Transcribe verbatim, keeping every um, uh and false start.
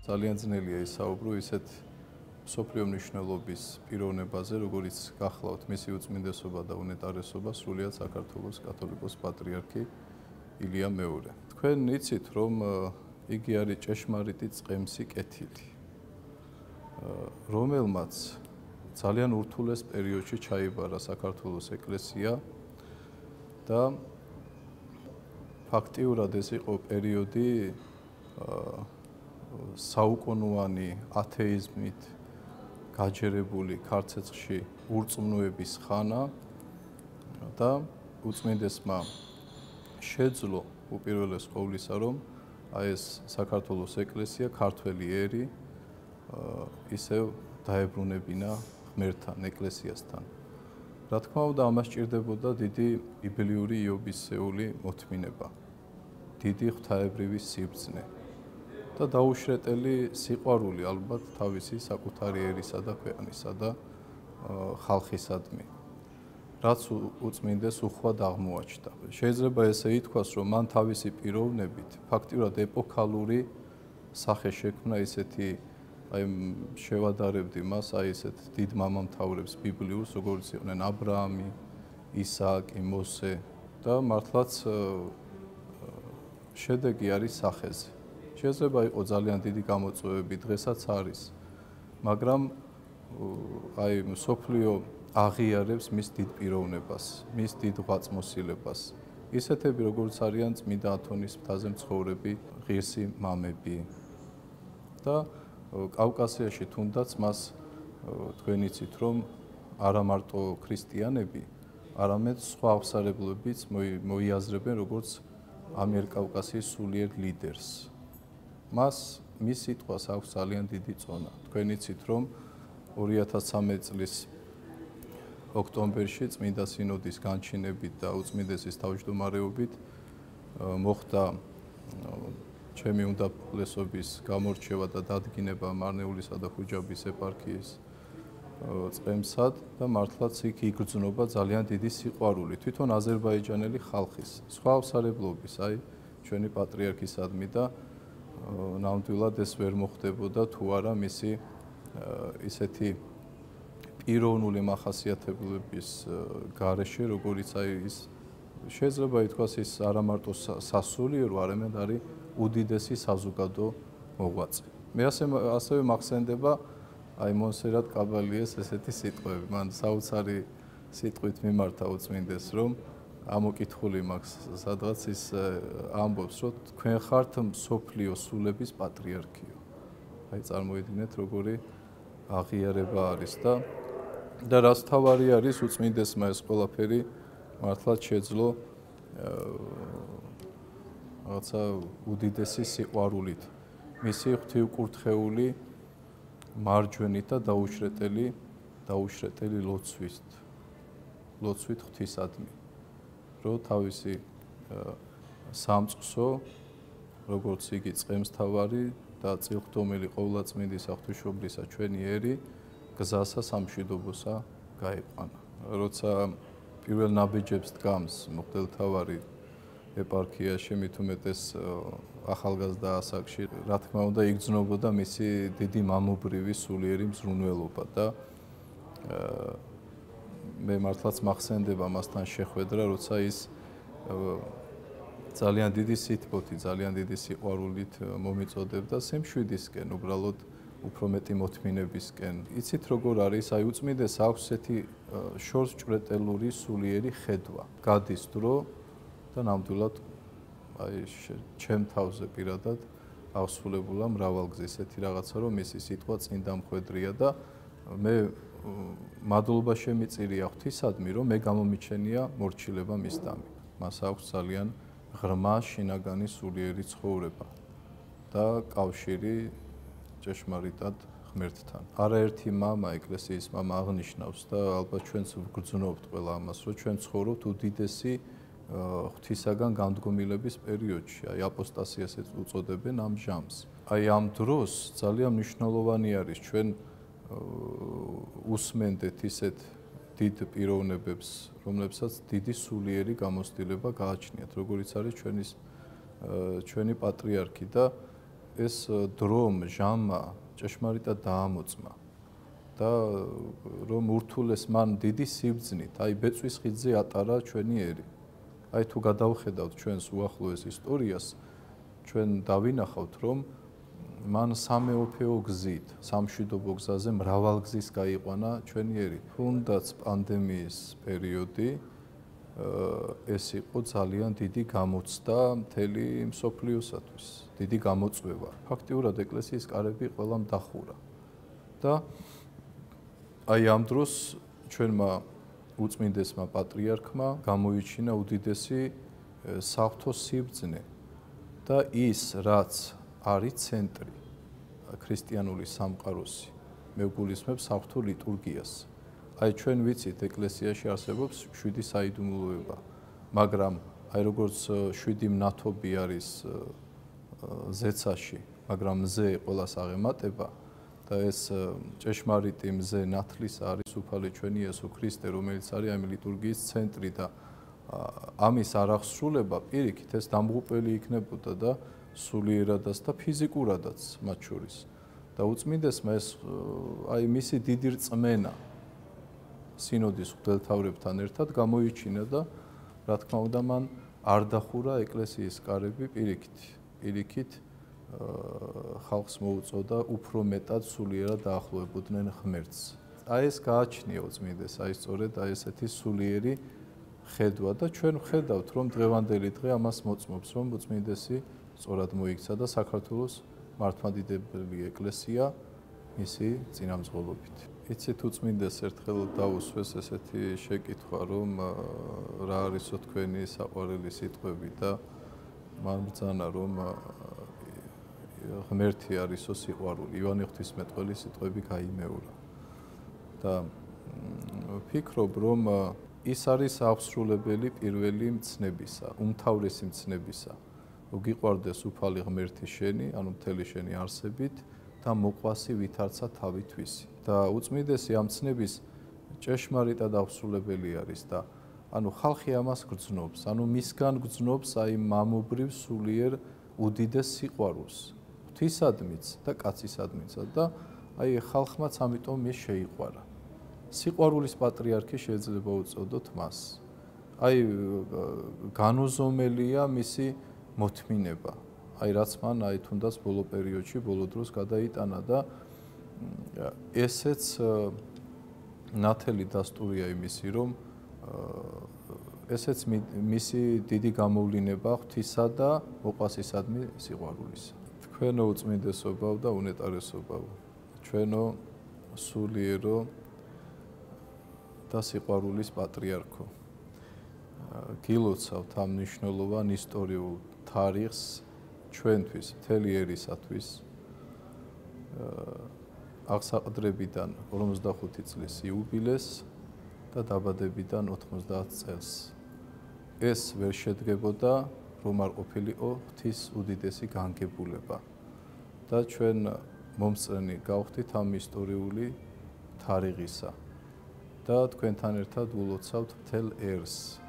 ძალიან ძნელია ისაუბრო ისეთ მსოფლიო მნიშვნელობის პიროვნებაზე, როგორიც გახლავთ მისი უწმინდესობა და უნეტარესობა სრულიად საქართველოს კათოლიკოს პატრიარქი ილია მეორე. თქვენ იცით, რომ იგი არის ჭეშმარიტი წყემსი კეთილი, რომელმაც ძალიან ურთულეს პერიოდში ჩაიბარა საქართველოს ეკლესია და ფაქტიურად ეს იყო პერიოდი საუკუნოვანი ათეიზმით გაჯერებული ქართლში ურწმუნოების ხანა და უწმინდესმა შეძლო უპირველეს ყოვლისა, რომ აი ეს საქართველოს ეკლესია ქართველი ერი ისევ დაებრუნებინა ღმერთთან, ეკლესიასთან. რა თქმა უნდა, ამას სჭირდებოდა დიდი ბიბლიური იობისეული მოთმინება, დიდი ღვთაებრივი სიბრძნე და დაუშრეტელი სიყვარული ალბათ თავისი საკუთარი ერისა და ქვეყნისა და ხალხისადმი, რაც უწმინდეს უხვად აღმოაჩნდა. შეიძლება ესე ითქვას, რომ მან თავისი პიროვნებით ფაქტიურად ეპოქალური სახე შექმნა ისეთი, აი შევადარებდი მას, აი ესეთ დიდ მამამთავრებს ბიბლიურს, როგორც იყვნენ აბრაამი, ისააკი, მოსე და მართლაც შედეგი არის სახეზე. შეიძლება იყოს ძალიან დიდი გამოწვევები, დღესაც არის, მაგრამ აი მსოფლიო აღიარებს მის დიდ პიროვნებას, მის დიდ ღვაწლმოსილებას. ისეთები, როგორც არიან წმინდა ათონის მთაზე მცხოვრები ღირსი მამები და კავკასიაში თუნდაც მას თქვენ იცით, რომ არა მარტო ქრისტიანები, არამედ სხვა აღმსარებლობებიც მოიაზრებენ როგორც ამიერკავკასიის სულიერ ლიდერს. მას მის სიტყვას აქვს ძალიან დიდი წონა. თქვენ იცით, რომ ორი ათას ცხრამეტი წლის ოქტომბერში წმინდა სინოდის განჩინებით და უწმინდესის თავმჯდომარეობით მოხდა ჩემი უნდაბლესობის გამორჩევა და დადგინება მარნეულისა და ხუჯაბის ეპარქიის წყემსად და მართლაც იქ იგრძნობა ძალიან დიდი სიყვარული თვითონ აზერბაიჯანელი ხალხის, სხვა აღმსარებლობის, აი ჩვენი პატრიარქისადმი და ნამდვილად ეს ვერ მოხდებოდა თუ არა მისი ისეთი პიროვნული მახასიათებლების გარეშე, როგორიც აი ის შეიძლება ითქვას ის არა მარტო სასულიერო, არამედ არის უდიდესი საზოგადო მოღვაწე. მე ასევე მახსენდება აი მონსერატ კაბალიეს ესეთი სიტყვები. მან საოცარი სიტყვით მიმართა უწმინდეს, რომ ამოკითხული მაქვს სადღაც ის ამბობს, რომ თქვენ ხართ მსოფლიო სულების პატრიარქიო. აი წარმოიდგინეთ, როგორი აღიარება არის და და რაც თავარი არის უწმინდესმა ეს ყველაფერი მართლაც შეძლო რაღაცა უდიდესი სიყვარულით მისი ღვთივკურთხეული მარჯვენით და დაუშრეტელი დაუშრეტელი ლოცვით ლოცვით ღვთისადმი, რომ თავისი სამწყსო, როგორც იგი წყემსთავარი და წილხდომელი ყოვლადწმინდისა ღვთისმშობლისა ჩვენი ერი გზასა სამშვიდობოსა გაიყვანა. როცა პირველ ნაბიჯებს დგამს მღვდელმთავარი ეპარქიაში, მით უმეტეს ახალგაზრდა ასაკში, რა თქმა უნდა, იგრძნობოდა მისი დიდი მამობრივი სულიერი მზრუნველობა და მე მართლაც მახსენდება მასთან შეხვედრა, როცა ის ძალიან დიდი სითბოთი, ძალიან დიდი სიყვარულით მომიწოდებდა სიმშვიდისკენ, უბრალოდ უფრო მეტი მოთმინებისკენ. იცით როგორ არის, აი უწმინდეს აქვს ესეთი შორს ჭვრეტელური სულიერი ხედვა. გადის დრო და ნამდვილად აი ჩემ თავზე პირადად აღსრულებულა მრავალგზის ესეთი რაღაცა, რომ მისი სიტყვა წინდა მხვედრია და მე მადლობა შემიწირია ღვთისადმი, რომ მე გამომიჩენია მორჩილება მისდამი. მას აქვს ძალიან ღრმა შინაგანი სულიერი ცხოვრება და კავშირი ჭეშმარიტად ღმერთთან. არაერთი მამა, ეკლესიის მამა აღნიშნავს და ალბათ ჩვენც ვგრძნობთ ყველა ამას, რომ ჩვენ ცხოვრობთ უდიდესი ღვთისაგან განდგომილების პერიოდში, აი აპოსტასიას უწოდებენ ამ ჟამს. აი ამ დროს ძალიან მნიშვნელოვანი არის ჩვენ უსმენდეთ ისეთ დიდ პიროვნებებს, რომლებსაც დიდი სულიერი გამოცდილება გააჩნიათ, როგორიც არის ჩვენის ჩვენი პატრიარქი და ეს დრომ, ჟამა ჭეშმარიტად დაამოწმა და რომ ურთულეს მან დიდი სიბრძნით, აი ბეწვის ხიდზე ატარა ჩვენი ერი. აი თუ გადავხედავთ ჩვენს უახლოეს ისტორიას, ჩვენ დავინახავთ, რომ მან სამეოფეო გზით, სამშვიდობო გზაზე მრავალგზის გაიყვანა ჩვენი ერი. თუნდაც პანდემიის პერიოდი ეს იყო ძალიან დიდი გამოცდა მთელი მსოფლიოსათვის, დიდი გამოწვევა. ფაქტიურად ეკლესიის კარები ყველამ დახურა. და აი ამ დროს ჩვენმა უწმინდესმა პატრიარქმა გამოიჩინა უდიდესი საღვთო სიბრძნე და ის, რაც არის ცენტრი ქრისტიანული სამყაროსი, მე ვგულისხმებ საღვთო ლიტურგიას. აი ჩვენ ვიცით, ეკლესიაში არსებობს შვიდი საიდუმლოება, მაგრამ აი როგორც შვიდი მნათობი არის ზეცაში, მაგრამ მზე ყველას აღემატება და ეს ჭეშმარიტი მზე ნათლის არის უფალი ჩვენი იესო ქრისტე, რომელიც არის ამ ლიტურგიის ცენტრი და ამის არახსრულება პირიქით ეს დამღუპველი იქნებოდა და სულიერადაც და ფიზიკურადაც მათ შორის. და უწმინდესმა ეს აი მისი დიდი რწმენა სინოდის მღვდელთავრებთან ერთად გამოიჩინა და რა თქმა უნდა მან არ დახურა ეკლესიის კარები პირიქით. პირიქით ხალხს მოუწოდა უფრო მეტად სულიერად დაახლოებოდნენ ღმერთს. აი ეს გააჩნია უწმინდეს, აი სწორედ აი ესეთი სულიერი ხედვა და ჩვენ ვხედავთ, რომ დღევანდელი დღე ამას მოწმობს, რომ უწმინდესი სწორად მოიქცა და საქართველოს მართლმადიდებელი ეკლესია მისი წინამძღოლობით. იცით უწმინდეს ერთხელ დაუსვეს ესეთი შეკითხვა, რომ რა არისო თქვენი საყვარელი სიტყვები და მან ბრძანა, რომ ღმერთი არისო სიყვარული, ივანე ღვთისმეტყველის სიტყვები გაიმეორა. და ვფიქრობ, რომ ის არის აღსრულებელი პირველი მცნებისა, უმთავრესი მცნებისა. გიყვარდეს უფალი ღმერთი შენი, ანუ მთელი შენი არსებით და მოყვასი ვითარცა თავითვისი. და უწმინდესი ამ მცნების ჭეშმარიტად აღსრულებელი არის და ანუ ხალხი ამას გრძნობს, ანუ მისგან გრძნობს აი მამობრივ სულიერ უდიდეს სიყვარულს, ღვთისადმიც და კაცისადმიცად და აი ხალხმაც ამიტომ ის შეიყვარა. სიყვარულის პატრიარქი შეიძლება უწოდოთ მას. აი განუზომელია მისი მოთმინება. აი რაც მან აი თუნდაც ბოლო პერიოდში, ბოლო დროს გადაიტანა და ესეც ნათელი დასტურია იმისი, რომ ესეც მისი დიდი გამოვლინება ღვთისა და მოყვასისადმი სიყვარულისა. თქვენო უწმინდესობავ და უნეტარესობავ, ჩვენო სულიერო და სიყვარულის პატრიარქო. გილოცავთ ამ მნიშვნელოვან ისტორიულ თარიღს ჩვენთვის, მთელი ერისათვის. აღსაყდრებიდან ორმოცდახუთი წლის იუბილეს და დაბადებიდან ოთხმოცდაათ წელს. ეს ვერ შედგებოდა, რომ არ ყოფილიყო ღვთის უდიდესი განგებულება. და ჩვენ მომწრენი გავხდით ამ ისტორიული თარიღისა. და თქვენთან ერთად ულოცავთ მთელ ერს.